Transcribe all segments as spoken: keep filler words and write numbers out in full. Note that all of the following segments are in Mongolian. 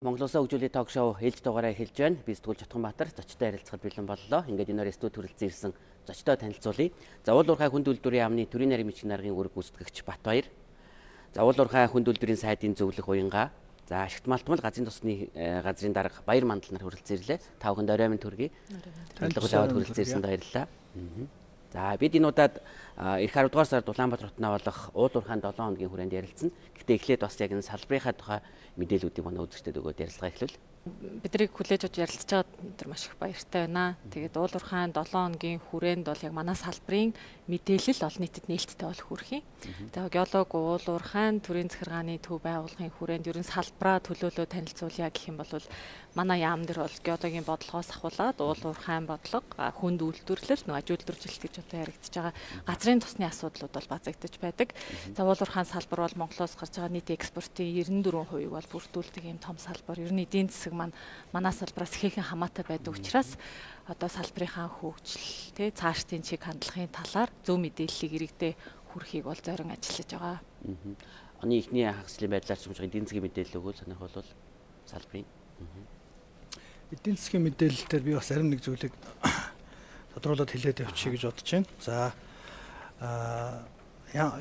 Монголоос хөгжүүлэлт ток шоу ээлж дугаараа эхэлж байна. Би Сэтгүүл Чотгонбаатар зочтой харилцахад бэлэн боллоо. Ингээд энэ студид хүрэлцэн ирсэн зочтой танилцуулъя. За уул уурхай хүнд үйлдвэрийн яамны төрийн нарийн бичгийн даргын үүрэг гүйцэтгэгч Батбаяр. За уул уурхай хүнд үйлдвэрийн сайдын зөвлөх уянгаа. За ашигт малтмал газрын тосны газрын дарга Баяр Мандал нар хүрэлцэн ирлээ. Та бүхэнд орой минь төргий. Төлөвлөгөө аваад хүрэлцэн ирсэнд баярлалаа. За бид энэ удаад эх арав дугаар сард Улаанбаатар хотноо болох уул уурхайн долоон хоногийн хүрээнд ярилцсан. Гэхдээ эхлээд бас яг энэ салбарынхаа тухай мэдээллүүдийг манай үзэгчдэд өгөөд ярилцлага эхлүүл. Бидрийг хүлээж авч ярилцж байгаа өндөр маш их баяртай байна. Тэгээд уул уурхайн долоон хоногийн хүрээнд бол яг манай салбарын мэдээлэл олон нийтэд нээлттэй болох хүрхий. Тэгээд геолог уул уурхайн төрийн захиргааны төв байгууллагын хүрээнд ерөн салбараа төлөөлөө танилцуулъя гэх юм бол манай яам дээр бол геологийн бодлогоос ахуулаад уул уурхайн бодлого, хүнд үйлдвэрлэл, нөө аж үйлдвэржилт гэж одоо яригдж байгаа газрын тосны асуудлууд бол базагдж байдаг. За уул уурхайн салбар бол Монголоос гарч байгаа нийт экспортын девятдөрвөн хувийг бол бүрдүүлдэг юм том салбар. Ер нь эдийн засаг маань манай салбараас ихээхэн хамаатай байдаг учраас одоо салбарынхаа хөгжил, тэ цаашдын чиг хандлагын талаар зөв мэдээллийг иргэдээ хүргэхийг бол зорин ажиллаж байгаа. Оны эхний хагслын байдлаар ч юм уу эдийн засгийн мэдээлэл өгвөл сонирхол бол салбарын. Эдийн засгийн мэдээлэл дээр би бас зарим нэг зүйлийг тодруулаад хэлээд явчих гэж бодож байна. За аа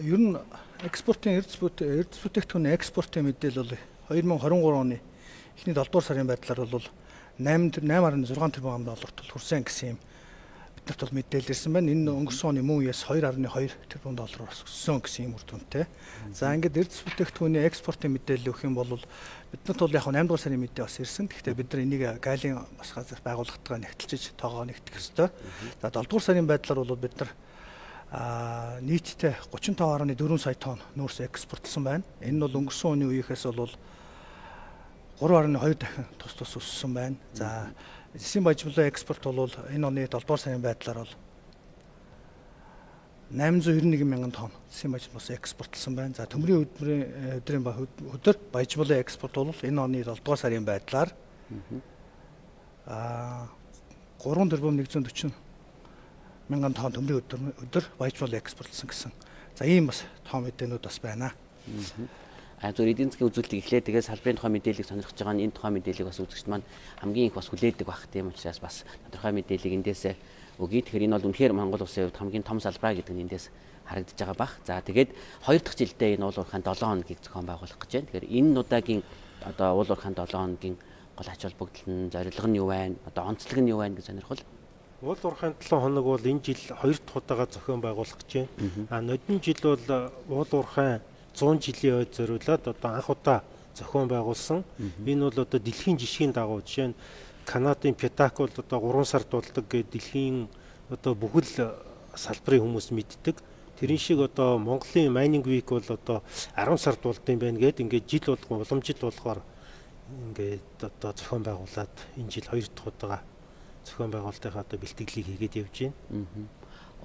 ер нь экспортын эрдэс бүтээгдэхүүн экспортын мэдээлэл бол две тысячи двадцать три оны эхний долоо дугаар сарын байдлаар бол eight point six тэрбум долларт хүрсэн гэсэн юм биднэрт бол мэдээлэл ирсэн байна. Энэ өнгөрсөн оны мөн үеэс two point two тэрбум доллараар өссөн гэсэн юм үр дүнтэй. За ингээд эрдэс бүтээгдэхүүний экспортын мэдээлэл өгөх юм бол биднэрт бол яг eight дугаар сарын мэдээ бас ирсэн. Гэхдээ бид нар энийг гайлын бас газар байгууллагатайгаа нэгтэлж тоогоо нэгтгэх ёстой. За долоо дугаар сарын байдлаар бол бид нар а нийтдээ thirty-five point four сая тонн нүүрс экспортлсон байна. Энэ нь бол өнгөрсөн оны үеийнхээс бол three point two дахин тус тус өссөн байна. За эсийн баяжмлын экспорт бол энэ оны долоо дугаар сарын байдлаар бол eight hundred ninety-one мянган тонн эсийн баяжмлаас экспортлсон байна. За төмрийн өдрийн өдрийн өдөр баяжмлын экспорт бол энэ оны долоо дугаар сарын байдлаар а three тэрбум one hundred forty мянган тонн төмрийн өдөр өдөр баяжмал экспортлсон гэсэн. За ийм бас том мэдээнүүд бас байна. А зөв эдийн засгийн үзүүлэлтийг эхлээд тэгээд салбарын тухай мэдээллийг сонирхож байгаа нь энэ тухай мэдээллийг бас үзэгчд маань хамгийн их бас хүлээдэг байх тийм учраас бас тодорхой мэдээллийг эндээс өгье. Тэгэхээр энэ бол үнэхээр Монгол улсын хувьд хамгийн том салбараа гэдэг нь эндээс харагдаж байгаа бах. За тэгээд хоёр дахь жилдээ энэ уул уурхайн долоон хоногийг зохион байгуулах гэж байна. Тэгэхээр энэ удаагийн одоо уул уурхайн долоон хоногийн гол ач холбогдол нь зорилго нь юу байна? Одоо онцлог нь юу байна гэж сонирхол. Уул уурхайн долоон хоног бол энэ жил хоёр дахь удаага зохион байгуулах гэж байна. А нодон жил бол уул уурхайн one hundred жилийн ойд зориулаад одоо анх удаа зохион байгуулсан. Энэ бол одоо дэлхийн жишгийн дагуу жишээ нь Канадын Пятак бол одоо three сард болдог гэдэг дэлхийн одоо бүхэл салбарын хүмүүс мэддэг. Тэрэн шиг одоо Монголын Mining Week бол одоо ten сард болдсон байна гэдэг ингээд жил болгон уламжил болохоор ингээд одоо зохион байгуулад энэ жил хоёр дахь удаага зохион байгуулалтынхаа одоо бэлтгэлийг хийгээд явж байна.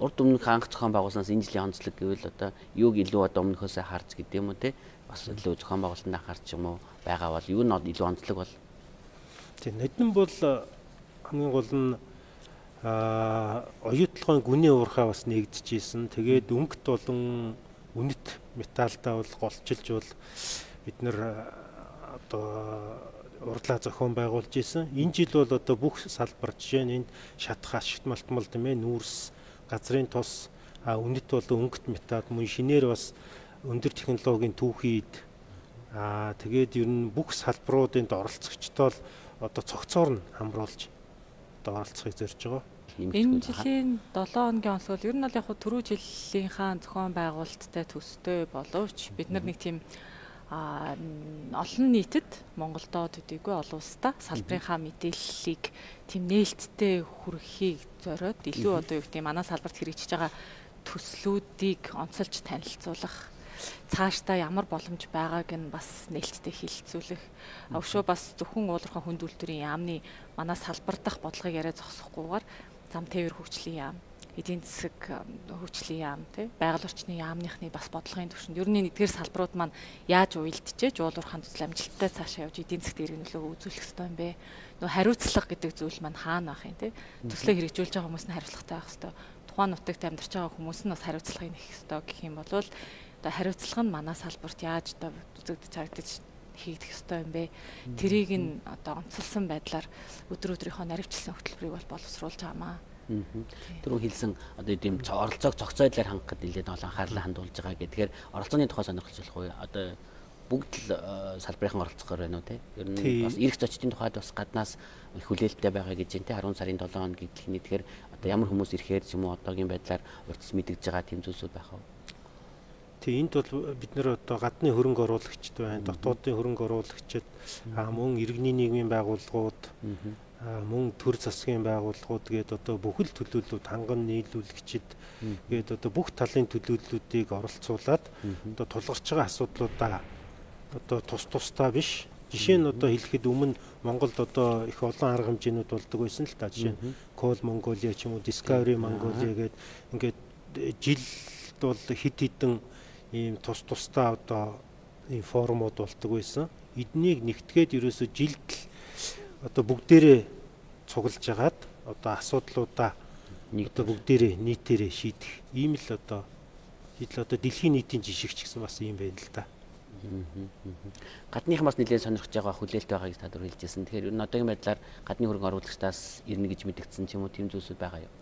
Урд өмнөх анх зохион байгуулснаас энэ жилийн онцлог гэвэл одоо юуг илүү одоо өмнөхөөсөө харж гэдэг юм уу те бас илүү зохион байгуулалтанд анхаарч юм уу байгаа бол юу нь илүү онцлог бол тийм нодон бол хамгийн гол нь а оюутлогын гүний уурхай бас нэгдэжсэн. Тэгээд өнгөт болон үнэт металлдаа бол голчилж бол бид нэр одоо урдлаа зохион байгуулж исэн. Энэ жил бол одоо бүх салбар жишээ нь энд шатах ашигт малтмал тийм ээ нүүрс газрын тос а үнэт бол өнгөт металл мөн шинээр бас өндөр технологийн түүхийд а тэгээд ер нь бүх салбаруудын оролцогчдоо одоо цогцоор нь хамруулж одоо оролцохыг зорж байгаа. Энэ жилийн долоон хоногийн онцгой ер нь бол яг түрүү жилийнхаа зохион байгуулалттай төстэй боловч бид нар нэг тийм а олон нийтэд Монголдоо төдийгүй олон улстай салбарынхаа мэдээллийг тийм нээлттэй хүргэхийг зориод илүү одоо юу гэдэг манай салбарт хэрэгжиж байгаа төслүүдийг онцолж танилцуулах цаашдаа ямар боломж байгааг нь бас нээлттэй хэлэлцүүлэх. Өшөө бас зөвхөн уул уурхайн хүнд үйлдвэрийн яамны манай салбар дахь бодлогыг яриа зогсохгүйгээр зам тээвэр хөгжлийн яам, эдийн засаг хөгжлийн яам, тий байгаль орчны яамныхны бас бодлогын түвшинд ер нь эдгээр салбарууд маань яаж уялдчихэж уул уурхайн төсөл амжилттай цаашаа явж эдийн засгт иргэн нөлөө үзүүлэх ёстой юм бэ? Нөө хариуцлага гэдэг зүйл маань хаана байх юм тий? Төслөө хэрэгжүүлж байгаа хүмүүс нь хариуцлагатай байх ёстой. Тухайн нутагт амьдарч байгаа хүмүүс нь бас хариуцлагыг нэх ёстой гэх юм бол одоо хариуцлага нь манай салбарт яаж одоо үзэгдэж харагдаж хийгдэх ёстой юм бэ? Тэрийг нь одоо онцлсан байдлаар өдөр өдрийнхөө наривчлсан хөтөлбөрийг бол боловсруулж байгаамаа. Түрүү хэлсэн одоо ийм оролцоог зохицуулаад хангахад нэлээд олон анхаарлаа хандуулж байгаа гэдгээр оролцооны тухай сонирхолтой болох уу? Одоо бүгд л салбарынхан оролцохоор байна уу те? Ер нь бас эрх зочдын тухайд бас гаднаас их хүлээлттэй байгаа гэж байна те. арван сарын долоо хоног гэхний тэгэхээр одоо ямар хүмүүс ирэхээр ч юм уу одоогийн байдлаар урьдчилан мэдэгдэж байгаа тийм зүйлсүүд байх уу? Тийм энд бол бид нэр одоо гадны хөрөнгө оруулагчд байна, дотоодын хөрөнгө оруулагчид, мөн иргэний нийгмийн байгууллагууд, мөн төр засгийн байгууллагууд гээд одоо бүхэл төлөөллүүд ханган нийлүүлэгчид гээд одоо бүх талын төлөөллүүдийг оролцуулаад одоо тулгарч байгаа асуудлуудаа одоо тус тусдаа биш. Жишээ нь одоо хэлэхэд өмнө Монголд одоо их олон арга хэмжээнүүд болдог байсан л та. Жишээ нь Coal Mongolia ч юм уу, Discovery Mongolia гээд ингээд жилд бол хэд хэдэн ийм тус тусдаа одоо ийм форумуд болдог байсан. Эднийг нэгтгээд ерөөсө жилд одоо бүгдээрээ цуглаж агаад одоо асуудлуудаа нэг одоо бүгдээрээ нийтээрээ шийдэх ийм л одоо жишээ одоо дэлхийн нийтийн жишгч гэсэн бас юм байна л да. Гадныхан бас нэлээд сонирхож байгаа хүлээлт байгаа гэж та дөр хэлжсэн. Тэгэхээр ер нь одоогийн байдлаар гадны хөрөнгө оруулагчдаас ирнэ гэж мэдэгдсэн ч юм уу тийм зүйлсүүд байгаа юу?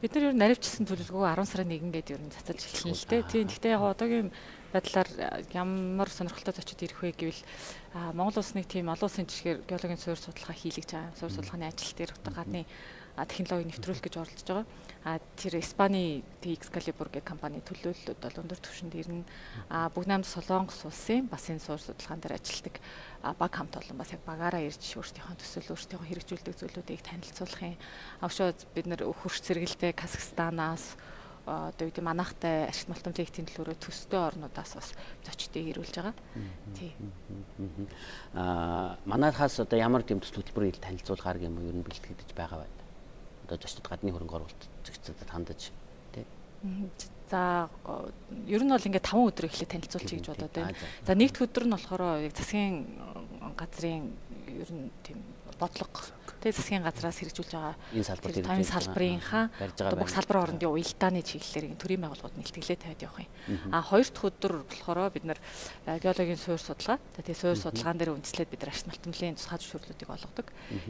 Бид нар ер нь наривчилсан төлөвлөгөө арван сарын нэгэн гээд ер нь цацалж эхэлсэн л дээ. Тийм. Гэхдээ яг одоогийн байдлаар ямар сонирхолтой зочид ирэх вэ гэвэл Монгол улсны тийм олон улсын жишгээр геологийн суурь судалгаа хийлгэж байгаа. Суурь судалгааны ажил дээр одоо гадны технологиг нэвтрүүлэх гэж оролдож байгаа. А тэр Испани Excalibur гэх компани төлөөллөд бол өндөр түвшинд ирнэ. А Бүгд найрамд Солонгос улсын бас энэ суурь судалгаан дээр ажилладаг баг хамт олон бас яг багаараа ирж өөрсдийнхөө төсөл өөрсдийнхөө хэрэгжүүлдэг зүйлүүдийг танилцуулах юм. Авшаа бид нар хөрш зэрэгэлтэй Казахстанаас одоо үүдээ манайхтай ашигт малтан проектийн төлөөрөө төстэй орнуудаас бас зочдыг ирүүлж байгаа. Тий. Аа манайхаас одоо ямар тийм төсөл хөтөлбөрийг танилцуулахаар юм ер нь бэлтгэж байгаа байна. Одоо зочдод гадны хөрөнгө оруулагчдад хандаж тий. За ер нь бол ингээд таван өдөр эхлээд танилцуулчих гэж бодоод байна. За нэгд өдөр нь болохоор яг засгийн газрын ер нь тийм бодлого тэгээ засгийн газраас хэрэгжүүлж байгаа энэ салбарын энэ салбарынхаа одоо бүх салбарын хоорондын уялдааны чиглэлээр төрийн байгууллагууд нэлтгэлээ тавиад явах юм. А хоёр дахь өдөр болохоор бид нар геологийн суурь судалгаа тэгээ суурь судалгаан дээр үндэслээд бид нар ашигт малтмлын тусгай зөвшөөрлүүдийг олгодог.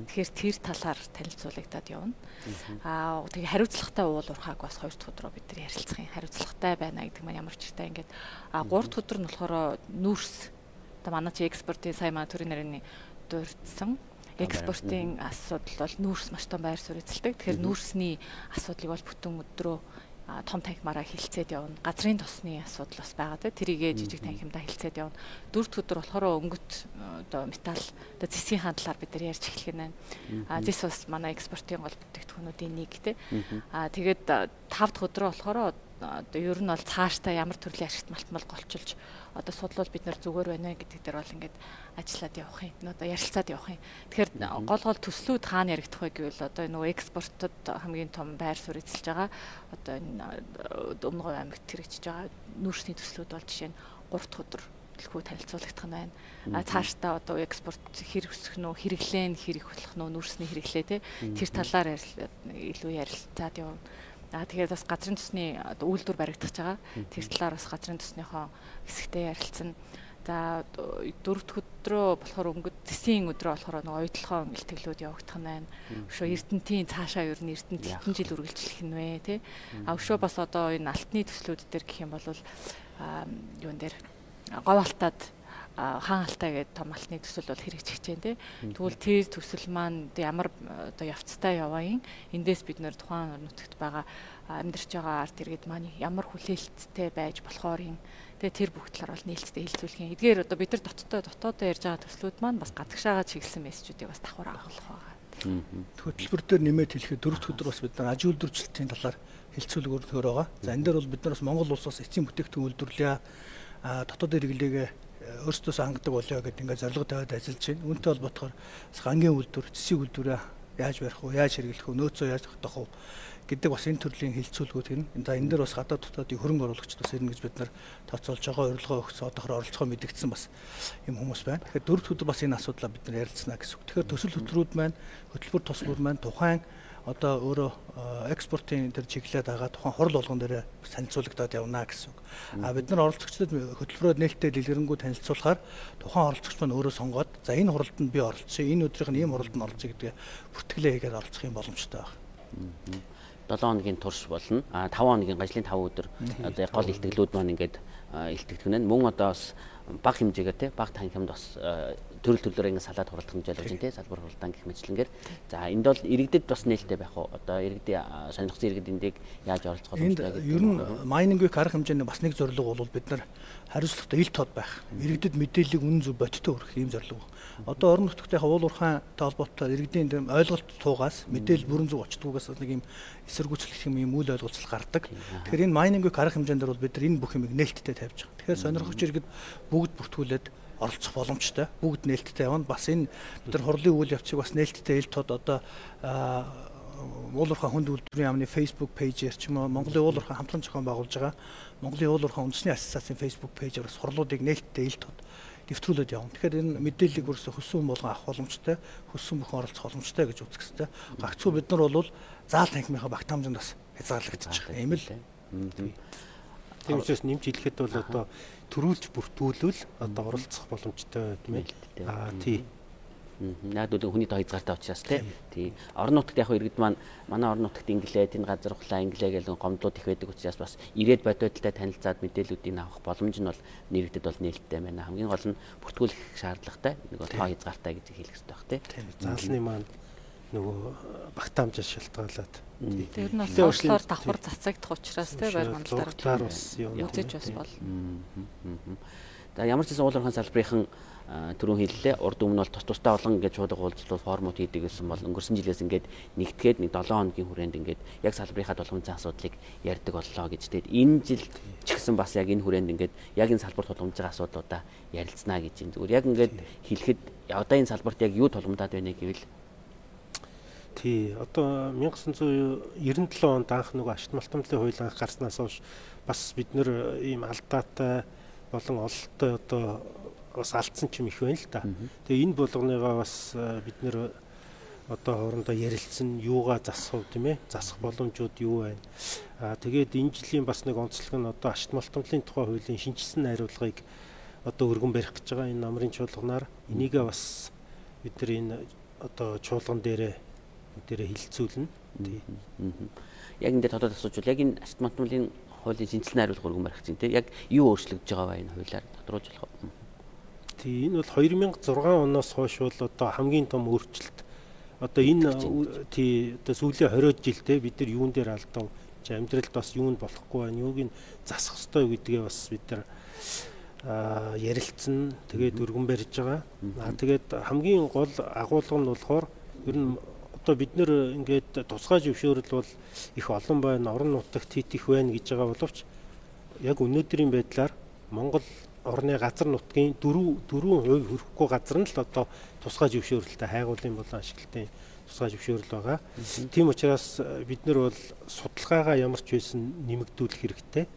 Тэгэхээр тэр талаар танилцуулагдаад явна. А тэгээ хариуцлагатай уул уурхайг бас хоёр дахь өдрөө бид нар ярилцах юм. Хариуцлагатай байна гэдэг маань ямар ч ихтэй ингээд а гурав дахь өдөр нь болохоор нүүрс одоо манай чи экспортын сайн маа төрийн нарийн дурдсан экспортын асуудал бол нүүрс маш том байр суурь эзэлдэг. Тэгэхээр нүүрсний асуудлыг бол бүтэн өдрөө том танхимаараа хилцээд явна. Газрын тосны асуудал бас байгаа те. Тэрийгээ жижиг танхимдаа хилцээд явна. Дөрөвт өдөр болохоор өнгөт одоо металл одоо зэсгийн хандлаар бид нар ярьж эхлэх нь байна. А зэс бас манай экспортын гол бүтээгдэхүүнүүдийн нэг те. А тэгээд тав дахь өдрөө болохоор одоо ер нь бол цаашдаа ямар төрлийн ашигт малтмал голчилж одоо судлал бид нар зүгээр байна гэдэг дээр бол ингээд ажиллаад явах юм. Одоо ярилцаад явах юм. Тэгэхээр гол гол төслүүд хаана яригдах вэ гэвэл одоо нөгөө экспортод хамгийн том байр суурь эзэлж байгаа одоо энэ Өмнөговь аймагт хэрэгжиж байгаа нүүрсний төслүүд бол жишээ нь гурав дахь өдөр төлхөө танилцуулагдах нь байна. А цаашдаа одоо экспорт хэрэг өсөх нь хэрэглээ нь хэрэг болох нь нүүрсний хэрэглээ те тэр талаар илүү ярилцаад явна. Аа тэгээд бас газрын төсний үйлдвэр баригдах байгаа. Тэр талаар бас газрын төснийхөө хэсэгтээ ярилцсан. За дөрөв дэх өдрөө болохоор өнгөт зэсийн өдрөө болохоор нэг ойдлогоо илтгэлүүд явагдах нь байна. Өшөө Эрдэнтийн цаашаа ер нь Эрдэнэт хэдэн жил үргэлжлэх нь вэ те. А өшөө бас одоо энэ алтны төслүүд дээр гэх юм бол юун дээр говь алтаад хаан алтай гэдэг том алтны төсөл бол хэрэгжиж байна те. Тэгвэл тэр төсөл маань ямар одоо явцтай яваа юм. Эндээс бид нэр тухайн нутагт байгаа амьдарч байгаа арт иргэд маань ямар хүлээлттэй байж болохоор юм. Тэгээ тэр бүх талаар бол нээлттэй хэлцүүлэх юм. Эдгээр одоо бид нар дотоодоо дотоодоо ярьж байгаа төслүүд маань бас гадагшаага чиглэсэн мессежүүдийг бас давхар агуулах байгаа. Хөтөлбөр дээр нэмээд хэлэхэд дөрөвт өдөр бас бид нар аж үйлдвэрчлэлтийн талаар хэлцүүлгээр төр байгаа. За энэ дээр бол бид нар бас Монгол улсаас эцсийн бүтээгдэхүүн үйлдвэрлэе, дотоод хэрэглээгээ өөрсдөөс хангадаг болоо гэдэг ингээд зорилго тавиад ажиллаж байна. Үүнтэй холбоотойгоор гангийн үйлдвэр, цэсийн үйлдвэрээ яаж барих вэ, яаж хэрэглэх вэ, нөөцөө яаж тогтоох вэ гэдэг бас энэ төрлийн хэлцүүлгүүд хэрнэ. За энэ дээр бас гадаад дотоодын хөрөнгө оруулагчид бас ирнэ гэж бид нар тооцоолж байгаа, урилга өгсөн, одоохоор оролцохоо мэдэгдсэн бас юм хүмүүс байна. Тэгэхээр дөрөвт өдөр бас энэ асуудлаа бид нар ярилцсана гэсэн үг. Тэгэхээр төсөл хөтөлбөрүүд маань, хөтөлбөр тосгууд маань тухайн одоо өөрөө экспортын тэр чиглэлд байгаа тухайн хурал болгон дээр танилцуулагдаад явна гэсэн үг. А бид нар оролцогчдод хөтөлбөрөөр нээлттэй дэлгэрэнгүй танилцуулахаар тухайн оролцогч маань өөрөө сонгоод за энэ хуралд нь би оролцъё, энэ өдрийнх нь ийм хуралд нь оролцъё гэдгээ бүртгэлээ хийгээд оролцох юм боломжтой байна. долоон хоногийн турш болно. А таван хоногийн гажлын таван өдөр одоо гол илтгэлүүд маань ингээд илтгэдэг нь мөн одоо бас бага хэмжээгээр тий бага танхимд бас төрөл төрлөөр ингэ салаад хуралдах хэмжээд болж байна тий салбар хуралдаан гэх мэтлэнгээр за энд бол иргэдэд бас нээлттэй байх уу одоо иргэдийн сонирхсан иргэдэндийг яаж оролцох боломжтой гэдэг. Ер нь майнинг вик арга хэмжээний бас нэг зорилго бол бид нар хариуцлагатай ил тод байх. Иргэдэд мэдээллийг үнэн зөв бодиттой хүргэх ийм зорилго. Одоо орон нутгийнхаа уул уурхайтай холбоотой иргэдийн ойлголт туугаас мэдээлэл бүрэн зөв очдгоогаас нэг юм эсэргүүцлэх юм үйл ойлголцол гардаг. Тэгэхээр энэ майнинг вик арга хэмжээнд бол бид нар энэ бүх юмыг нээлттэй тавьж байгаа. Тэгэхээр сонирхогч иргэд бүгд бүртгүүлээд оролцох боломжтой. Бүгд нээлттэй явна. Бас энэ бид нар хурлын үйл явцыг бас нээлттэй ил тод одоо уул уурхай хүнд үйлдвэрийн яамны Facebook пэйжээр ч юм уу Монголын уул уурхай хамтран зохион байгуулж байгаа Монголын уул уурхай үндэсний ассоциацийн Facebook пэйжээр бас хурлуудыг нээлттэй ил тод дэвтрүүлээд явна. Тэгэхээр энэ мэдээллийг бүрсээ хүссэн болгон авах боломжтой, хүссэн бүхэн оролцох боломжтой гэж үзэх хэрэгтэй. Гагцхүү бид нар бол заал танхимынхаа багт хамжинд бас хязгаарлагдчих. Ийм л. Тийм учраас нэмж хэлэхэд бол одоо төрүүлж бүртгүүлвэл одоо оролцох боломжтой тийм ээ. Аа тий. Наагдлын хүний тоо хязгаартай учраас тий. Орон нутагт яг иргэд маань манай орон нутагт инглээ, тэн газар ухлаа инглээ гэх гомдлууд их байдаг учраас бас ирээд бодиодтай танилцаад мэдээллүүдийг авах боломж нь бол нэрэгдэд бол нээлттэй байна. Хамгийн гол нь бүртгүүлэх шаардлагатай нэг тоо хязгаартай гэж хэлэх хэрэгтэй баг тий. Заалны маань нөгөө багтаамжаас шалтгаалаад тэр нь болохоор давхар цацагдах учраас тий байр мандлаар бас юм үзэж бас бол. За ямар ч гэсэн уул уурхайн салбарын түрүүн хэллээ урд өмнө бол тус тустай олон ингээд шууд уулзлал формууд хийдэг гэсэн бол өнгөрсөн жилээс ингээд нэгтгээд нэг долоон хоногийн хүрээнд ингээд яг салбарынхаа тулгымцсан асуудлыг ярьдаг боллоо гэж. Тэгээд энэ жил ч гэсэн бас яг энэ хүрээнд ингээд яг энэ салбар тулгымж байгаа асуудлуудаа ярилцсанаа гэж юм. Зүгээр яг ингээд хэлэхэд одоо энэ салбарт яг юу тулгамдаад байна гэвэл тий одоо 천ix девяносто seven онд анх нөгөө ашигт малтамлын хууль анх гарснаас хойш бас бид нэр ийм алдаатай болон ололттой одоо бас алдсан ч юм их байна л да. Тэгээ энэ болгоныгаа бас бид нэр одоо хоорондоо ярилцсан юугаа засах тийм ээ засах боломжууд юу байна. Аа тэгээд энэ жилийн бас нэг онцлог нь одоо ашигт малтамлын тухай хуулийн шинжилсэн найруулгыг одоо өргөн барих гэж байгаа энэ намрын чуулганаар энийгээ бас бид нар энэ одоо чуулган дээрээ дээрээ хилцүүлнэ. Тий. Яг энэ тодод асуужвал яг энэ ашигт малтамлын хуулийн шинжилсэн найруулга өргөн барих чинь тий яг юу өөрчлөгдөж байгаа вэ энэ хуулиар тодруулж болох уу? Тий энэ бол two thousand six оноос хойш бол одоо хамгийн том өөрчлөлт. Одоо энэ тий одоо сүүлийн twenty жилдээ бид нар юун дээр алдав, амьдралд бас юунд болохгүй байна, юуг нь засах ёстой гэдгээ бас бид нар ярилцсан. Тэгээд өргөн барьж байгаа. Аа тэгээд хамгийн гол агуулга нь болохоор ер нь одоо бид нэр ингээд тусгай зөвшөөрөл бол их олон байна, орон нутагт хит их байна гэж байгаа боловч яг өнөөдрийн байдлаар Монгол орны газар нутгийн four four percent хүрэхгүй газар нь л одоо тусгай зөвшөөрөлтэй хайгуулын болон ашиглалтын тусгай зөвшөөрөл байгаа. Тийм учраас бид нар бол судалгаагаа ямар ч байсан нэмэгдүүлэх хэрэгтэй.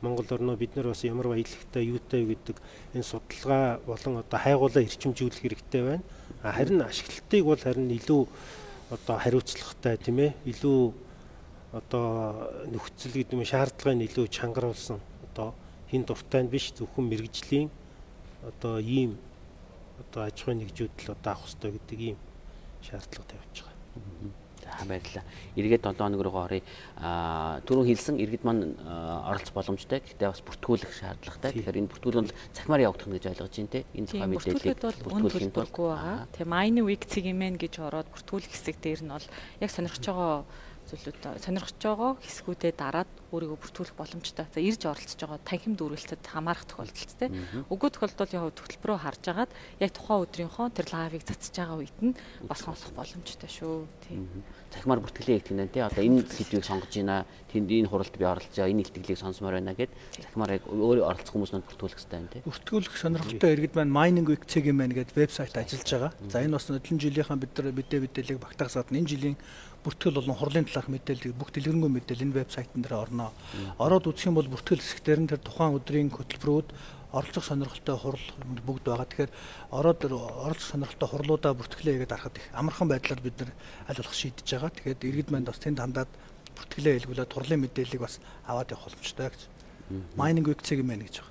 Монгол орноо бид нар бас ямар баялагтай юутай гэдэг энэ судалгаа болон одоо хайгуулаа эрчимжүүлэх хэрэгтэй байна. Харин ашиглалтыг бол харин илүү одоо хариуцлагатай тийм ээ илүү одоо нөхцөл гэдэг юм шаардлагыг илүү чангаруулсан одоо хин дуртай нь биш зөвхөн мэрэгжлийн одоо ийм одоо аж ахуйн нэгжүүдэл одоо авах хэрэгтэй гэдэг ийм шаардлага тавьж байгаа. За баярлалаа. Эргээд seven хоног руу оръё. Аа түрүүн хэлсэн иргэд маань оролцох боломжтой. Гэхдээ бас бүртгүүлэх шаардлагатай. Тэгэхээр энэ бүртгүүл нь цахимаар явагдах гэж ойлгож байна те. Энэ тухай мэдээллийг бүртгүүлэхийн тулд байгаа. Тэгээ майны вик цэгмэн гэж ороод бүртгүүлэх хэсэг дээр нь бол яг сонирхож байгаа зүйлүүд сонирхож байгаа хэсгүүдээ дараад өөрийгөө бүртгүүлэх боломжтой. За ирж оролцож байгаа танхим дүүрэлтэд хамаарах тохиолдолд те. Өгөө тохиолдолд яг хөтөлбөрөөр харж агаад яг тухайн өдрийнхөө тэр лайвыг цацж байгаа үед нь бас сонсох боломжтой шүү. Тийм. Цахимаар бүртгэлээ хийх юм те. Одоо энэ сэдвийг сонгож байна. Тэнд энэ хуралд би оролцоо, энэ илтгэлийг сонсомоор байна гэд цахимаар яг өөрөө оролцох хүмүүс нь бүртгүүлэх хэрэгтэй байна те. Бүртгүүлэх сонирхолтой иргэд маань Mining Week цэгмэн гэдэг вебсайт ажиллаж байгаа. За энэ бас өдөржин жилийнхаа бид нар мэдээ мэдээллийг багтаасаад энэ жилийн бүртгэл болон хурлын талаарх мэдээлэл бүх дэлгэрэнгүй мэдээлэл энэ вебсайтн дээр орно. Ороод үзэх юм бол бүртгэл хэсгээр нь тэр тухайн өдрийн хөтөлбөрүүд оролцох сонирхолтой хурал бүгд байгаа. Тэгэхээр ороод оролцох сонирхолтой хурлуудаа бүртгэлээ хийгээд арахад их амархан байдлаар бид нар аль болох шийдэж байгаа. Тэгэхээр иргэд манд бас тэнд хандаад бүртгэлээ хэлгүүлээд хурлын мэдээллийг бас аваад явах боломжтой гэж. Mining Week-ийг мэн гэж байгаа.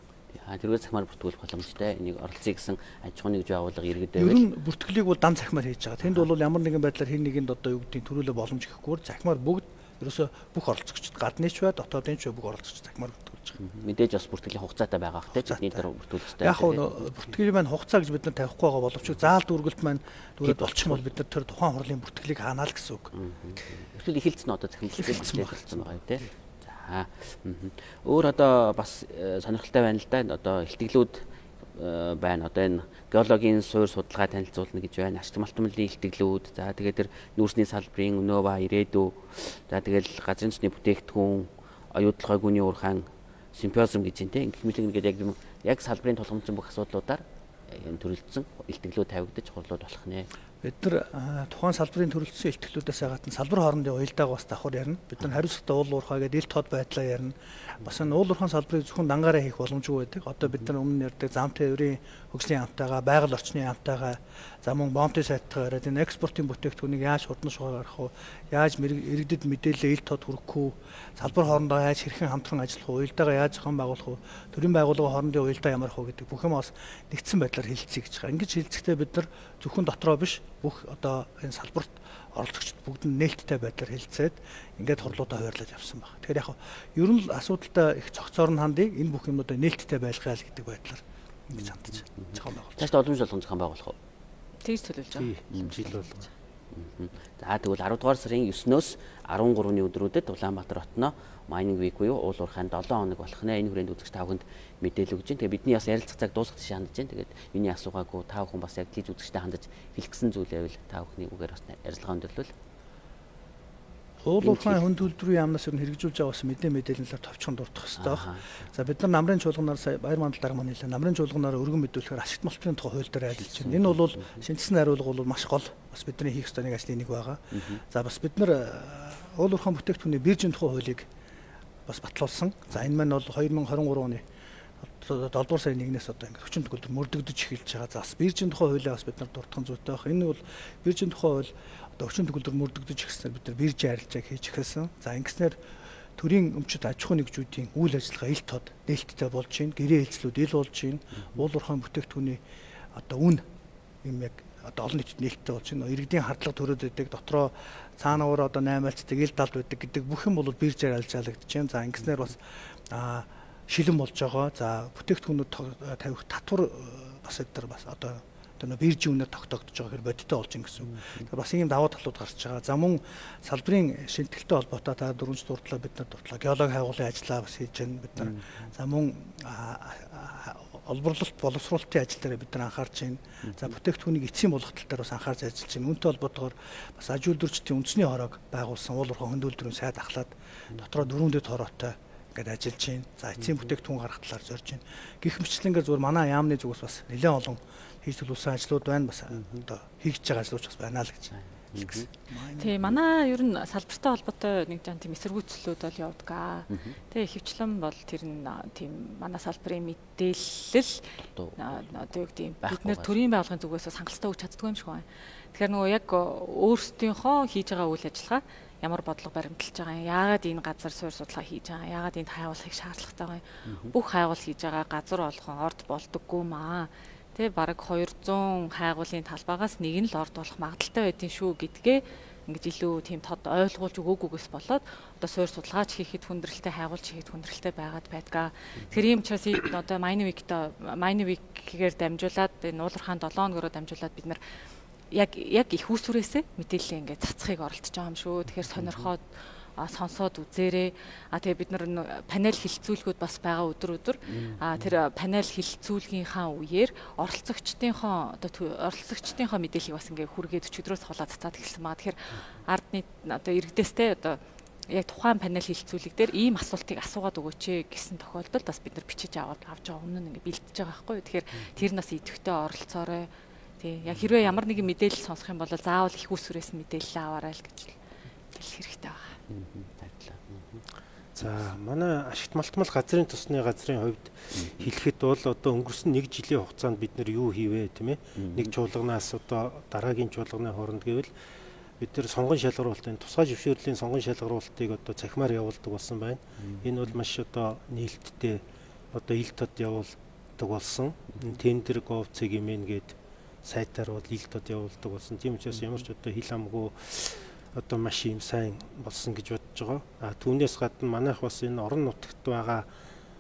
Тэрүүгээр цахимаар бүртгүүлэх боломжтой. Энийг оролцъё гэсэн аж ахуйн нэгж байгууллага иргэдэд байвал. Ер нь бүртгэлийг бол дан цахимаар хийж байгаа. Тэнд бол ямар нэгэн байдлаар хин нэгэнд одоо юу гэдгийг төрүүлээ боломж өгөхгүй. Цахимаар бүгд ерөөсө бүх оролцогчд гадныч бай, дотоодын ч бүх оролцогч цахимаар бүртгүүлж байгаа. Мэдээж бас бүртгэлийн хугацаатай байгаа хэ бидний дээр бүртгүүлэх хэрэгтэй. Яг нь бүртгэлийн маань хугацаа гэж бид нар тавихгүй байгаа боловч заал дүүргэлт маань дүүрээд болчих юм бол бид нар тэр тухайн хурлын бүртгэлийг хаанаа л гэсэн үг. Эсвэл эхэлсэн одоо захимлалцсан болсон байгаа юм тий. За. Өөр одоо бас сонирхолтой байна л да. Одоо илтгэлүүд байна. Одоо энэ геологийн суурь судалгаа танилцуулна гэж байна. Ашиг малтмлын илтгэлүүд. За тэгээд тэр нүүрсний салбарын өнөө ба ирээдүй. За тэгэл газрын төсний бүтээгдэхүүн, оюутлогын гүний уурхайн симпозиум гэж байна те. Ингэх мэтлэг ингээд яг яг салбарын тулгамдсан бүх асуудлуудаар төрөлдсөн илтгэлүүд тавигдаж хурлууд болох нэ. Бид нар тухайн салбарын төрөлдсөн илтгэлүүдээс гадна салбар хоорондын уялдааг бас давхар ярина. Бид нар хариуцлагатай уул уурхай гэдэг ил тод байдлаа ярина. Бас энэ уул уурхайн салбарыг зөвхөн дангаараа хийх боломжгүй байдаг. Одоо бид нар өмнө ярьдаг зам тээврийн хөгжлийн амтайгаа, байгаль орчны амтайгаа, за мөн бомтын сайтгаа яриад энэ экспортын бүтээгдэхүүнийг яаж хурдан шугаар гаргах вэ? Яаж иргэдэд мэдээлэл ил тод хүрэхгүй вэ? Салбар хоорондоо яаж хэрхэн хамтран ажиллах вэ? Уялдаагаа яаж зохион байгуулах вэ? Төрийн байгууллагын хоорондын уялдаа ямар хөө гэдэг бүх юм бас нэгдсэн байдлаар хэлэлцэе гэж байгаа. Ингэж хэлэлцэхдээ бид нар зөвхөн дотроо биш бүх одоо энэ салбарт оролцогчд бүгд нь нээлттэй байдлаар хэлэлцээд ингээд хурлуудаа хуваарлаж явсан байна. Тэгэхээр яг ер нь л асуудалтай их цогцоор нь хандыг энэ бүх юмудаа нээлттэй байлгая л гэдэг байдлаар ингэж хандаж зохион байгуулж. Цаашдаа уламж болгон зохион байгуулах уу? Тэгж төлөвлөж байгаа. Жил болгоо. За тэгвэл арав дугаар сарын есөнөөс арван гурваны өдрүүдэд Улаанбаатар хотноо Mining Week буюу уул уурхайн долоон хоног болох нэ. Энэ хүрээнд үзэгч та бүхэнд мэдээлэл өгч байна. Тэгээ бидний бас ярилцах цаг дуусах тийш хандж байна. Тэгээд миний асуугаагүй та бүхэн бас яг тийж үзэгчтэй хандаж хэлэх гэсэн зүйлээ байвал та бүхний үгээр бас ярилцлага өндөрлөл. Уул уурхайн хүн төлбөрийн яамнаас ер нь хэрэгжүүлж байгаа бас мэдээ мэдээлэлээр товчхон дурдах хэрэгтэй байна. За бид нар намрын чуулганаар сая баяр мандал дарга маань хэлээ. Намрын чуулганаар өргөн мэдүүлэхээр ашигт малтын тухай хууль дээр ажиллаж байна. Энэ бол шинжилсэн хариулга бол маш гол бас бидний хийх ёстой нэг ажлын нэг байгаа. За бас бид нар уул уурхайн бүтээгдэхүүний биржийн тухай хуулийг бас батлуулсан. За энэ маань бол хоёр мың хорин гурав оны долдугаар сарын нэгнээс одоо ингээд хүчин төгөлдөр мөрдөгдөж эхэлж байгаа. За бас биржийн тухай хуулиа бас бид нар дурдхан зүйтэй байх. Энэ бол биржийн тухай хууль одоо хүчин төгөлдөр мөрдөгдөж эхэлснээр бид нар биржийн арилжааг хийж эхэлсэн. За ингэснээр төрийн өмчит аж ахуйн нэгжүүдийн үйл ажиллагаа ил тод нээлттэй болж байна. Гэрээ хэлцлүүд ил болж байна. Уул уурхайн бүтээгдэхүүний одоо үн юм яг одоо олон нийтэд нээлттэй болж байна. Иргэдийн хардлага төрөөд байдаг. Дотроо цаанаар одоо наймаалцдаг ил талд байдаг гэдэг бүх юм бол биржээр арилжаалагдаж байна. За ингэснээр бас аа шилэн болж байгаа. За бүтээгдэхүүнүүд тавих татвар бас эдгээр бас одоо одоо биржийн үнээр тогтоогдож байгаа хэрэг бодиттой болж ин гэсэн үг. Бас ийм даваа талууд гарч байгаа. За мөн салбарын шинжилгээтэй холбоотой та дөрөвч дурдлаа бид нар дурдлаа. Геологи хайгуулын ажиллаа бас хийж байна бид нар. За мөн олборлолт боловсруулалтын ажил дээр бид нар анхаарч байна. За бүтээгдэхүүнийг эцсийн болгох тал дээр бас анхаарч ажиллаж байна. Үүнтэй холбоотойгоор бас аж үйлдвэрчдийн үндэсний хорог байгуулсан уул уурхайн хөндөлдрийн сайд ахлаад дотроо дөрвөн дэд хороотой ингээд ажиллаж байна. За эцсийн бүтээгдэхүүн гаргах талаар зорж байна. Гэх мэтлэнгээр зүгээр манай яамны зүгээс бас нэлээд олон хийж төлөвлөсөн ажлууд байна. Бас одоо хийж байгаа ажлууд бас байна л гэж. Тийм манай ер нь салбартай холбоотой нэг жан тийм эсэргүүцлүүд бол явдаг аа. Тэгээ хөвчлэн бол тэр нь тийм манай салбарын мэдээлэл одоо юу гэдэг бид нэр төрийн байгууллагын зүгээс хангалттай өгч чаддгүй юм шиг байна. Тэгэхээр нөгөө яг өөрсдийнхөө хийж байгаа үйл ажиллагаа ямар бодлого баримталж байгаа юм, яагаад энэ газар суурь судалгаа хийж байгаа, яагаад энд хайгуулахыг шаардлагатай байгаа юм. Бүх хайгуул хийж байгаа газар болгон орд болдоггүй маа. Тэ бараг хоёрзуун хайгуулын талбайгаас нэг нь л орд болох магадaltaй байдгийн шүү гэдгээ ингэж илүү тийм тод ойлгуулж өгөөгүйгээс болоод одоо суурь судалгаач хийхэд хүндрэлтэй хайгуулч хийхэд хүндрэлтэй байгаад байдгаа. Тэгэхээр ийм учраас одоо Mining Week-тэй Mining Week-гээр дамжуулаад энэ уул уурхайн долоон хоногоор дамжуулаад бид нар яг яг их усүрээсээ мэдээлэл ингээд цацхыг оролдож байгаа юм шүү. Тэгэхээр сонирхоод сонсоод үзээрэй. А тэгээ бид нар панел хилцүүлгүүд бас байгаа өдөр өдөр. А тэр панел хилцүүлгийнхаа үеэр оролцогчдынхоо одоо оролцогчдынхоо мэдээллийг бас ингээд хүргээд өчигдрөөс хулаа цацаад эхэлсэн байгаа. Тэгэхээр ардны одоо иргэдээстэй одоо яг тухайн панел хилцүүлэг дээр ийм асуултыг асуугаад өгөөч гэсэн тохиолдолд бас бид нар бичиж аваад авч байгаа өмнө нь ингээд бэлдэж байгаа байхгүй юу. Тэгэхээр тэр нас идэвхтэй оролцоорой. Тий, яг хэрвээ ямар нэгэн мэдээлэл сонсох юм бол заавал их усүрээс мэдээлэл аваарай л гэж хэлэх хэрэгтэй байна. За манай ашигт малтмал газрын тосны газрын хувьд хэлэхэд бол одоо өнгөрсөн нэг жилийн хугацаанд бид нэр юу хийвэ тийм ээ. Нэг чуулганаас одоо дараагийн чуулганы хооронд гэвэл бид нэр сонгон шалгаруулалтын тусгай зөвшөөрлийн сонгон шалгаруулалтыг одоо цахимаар явуулдаг болсон байна. Энэ бол маш одоо нээлттэй одоо ил тод явуулдаг болсон. Тендер gov ceg имэн гээд сайтаар бол ил тод явуулдаг болсон. Тийм учраас ямар ч одоо хил амгүй одоо маш юм сайн болсон гэж бодож байгаа. А түүнээс гадна манайх бас энэ орон нутагт байгаа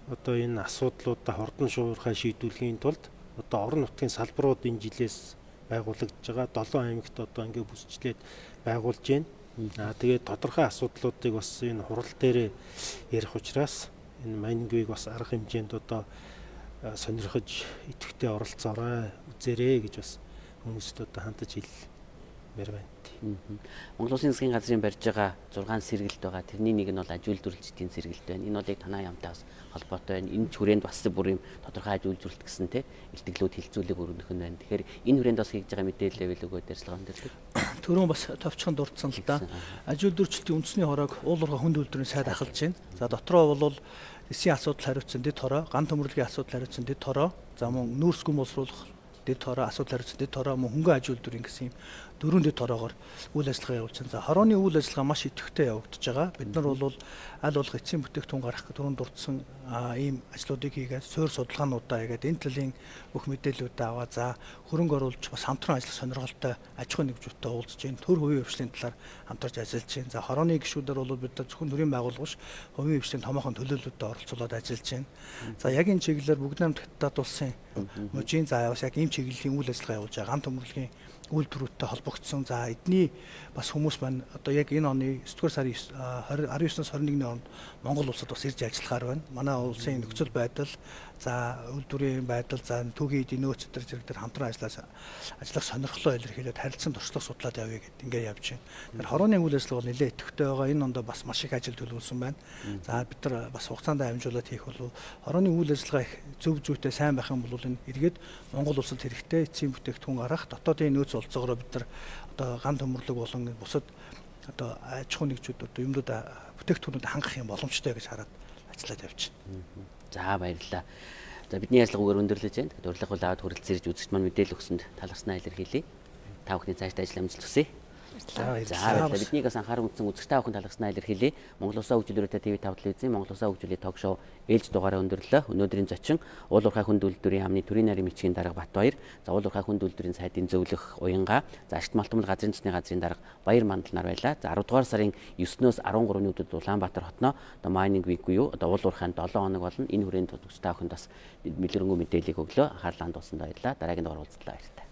одоо энэ асуудлуудаа хордон шуурхай шийдвэрлэхийн тулд одоо орон нутгийн салбарууд энэ жилээс байгуулагдж байгаа. долоон аймагт одоо ингээ бүсчлээд байгуулж байна. А тэгээд тодорхой асуудлуудыг бас энэ хурал дээр ярих учраас энэ Манингийн бас арга хэмжээнд одоо сонирхож идэвхтэй оролцоорой, үзээрэй гэж бас хүмүүст одоо хандаж хэлмээр байна. Монгол Улсын засгийн газрын барьж байгаа зургаан сэргэлт байгаа. Тэрний нэг нь бол аж үйлдвэрлэлтийн сэргэлт байна. Энэ бол яг танаа ямтай бас холбоотой байна. Энэ хүрээнд бас бүр юм тодорхой аж үйлдвэрлэлт гэсэн те илтгэлүүд хилцүүлэг өргөнөх нь байна. Тэгэхээр энэ хүрээнд бас хийж байгаа мэдээлэл байвал өгөө дэрслэгэн дэрдэг. Төрөө бас товчхон дурдсан л да. Аж үйлдвэрлэлтийн үндэсний хороог уулуурхай хүнд үйлдвэрийн сайд ахалж байна. За дотроо бол эсийн асуудал хариуцсан дэд хороо, ган төмөрлөгийн асуудал хариуцсан дэд хороо, за мөн нүүрс гүн боловсруулах дэд хороо, асуудал хариуцсан дэд хороо, мөн хөнгөн аж үйлдвэрийн гэсэн юм дөрвөн дэд хороогоор үйл ажиллагаа явуулж байна. За хорооны үйл ажиллагаа маш идэвхтэй явагдаж байгаа. Бид нар бол аль болох эцсийн бүтээгдэхүүн гаргах түрүүнд дурдсан ийм ажлуудыг хийгээд суурь судалгаануудаа хийгээд энэ төлөлийн бүх мэдээллүүдээ аваа. За хөрөнгө оруулж бас хамтран ажиллах сонирхолтой аж ахуйн нэгжүүдтэй уулзж байна. Төр хувийн хвшлийн талаар хамтарч ажиллаж байна. За хорооны гишүүдээр бол бид нар зөвхөн төрийн байгууллагаш хувийн хвшлийн томоохон төлөөлөлтөд оролцуулаад ажиллаж байна. За яг энэ чиглэлээр бүгд намт хятад улсын мужийн заавас яг ийм чиглэлийн үйл ажиллагаа явуулж байгаа. Ган төмөрлөгийн үйлдвэрүүдтэй холбогдсон. За эдний бас хүмүүс маань одоо яг энэ оны есдүгээр сарын арван ёсноос хорин нэгний хооронд Монгол улсад бас ирж ажиллахаар байна. Манай улсын нөхцөл байдал, за үйлдвэрийн байдал, за түүхийн эдийн нөөц төр зэрэг дээр хамтран ажиллаж ажиллах сонирхлоо илэрхийлээд харилцан туршлага судлаад явъя гэд ингээд явж байна. Тэгэхээр хорооны үйл ажиллагаа бол нэлээд идэвхтэй байгаа. Энэ ондоо бас маш их ажил төлөвлөсөн байна. За бид нар бас хугацаанд амжуулаад хийх болов хорооны үйл ажиллагаа их зөв зүйтэй сайн байх юм бол энэ эргээд Монгол улсад хэрэгтэй эцсийн бүтээгдэхүүн гарах, дотоодын нөөц олцоогоор бид нар одоо ган төмөрлөг болон бусад одоо аж ахуйн нэгжүүд одоо юмнууд бүтээгдэхүүнүүд хангах юм боломжтой гэж хараад ажиллаад явж байна. За баярлалаа. За бидний ярилцлагаар өндөрлөж байна. Урилга бол аваад хүрэлцэн ирж үзэгч маань мэдээлэл өгсөнд талархснаа илэрхийлье. Та бүхний цаашдаа ажил амжилт хүсье. За баярлалаа. Биднийг бас анхааран үзсэн үзэгч та бүхэн талархснаа илэрхийлье. Монгол Улсын хөгжүүлэлтөд ТV тавд телевизийн Монгол Улсын хөгжүүлэлт ток шоу ээлж дугаараа өндөрлөө. Өнөөдрийн зочин уулуурхай хүнд үйлдвэрийн яамны төрийн нарийн бичгийн дарга Батбаяр, за уулуурхай хүнд үйлдвэрийн сайдын зөвлөх Уянга, за ашигт малтмал газрын засны газрын дарга Баяр Мандал нар байлаа. За арав дугаар сарын есөөс арван гуравны өдөрт Улаанбаатар хотноо одоо майнинг вик буюу одоо уулуурхайн долоон хоног болно. Энэ хүрээнд үзэгч та бүхэнд бас мэлэрэнгүй мэдээллийг өглөө. Анхаарлаа хандуулсанд баярлалаа. Дараагийн дугаар уулзлаа баяртай.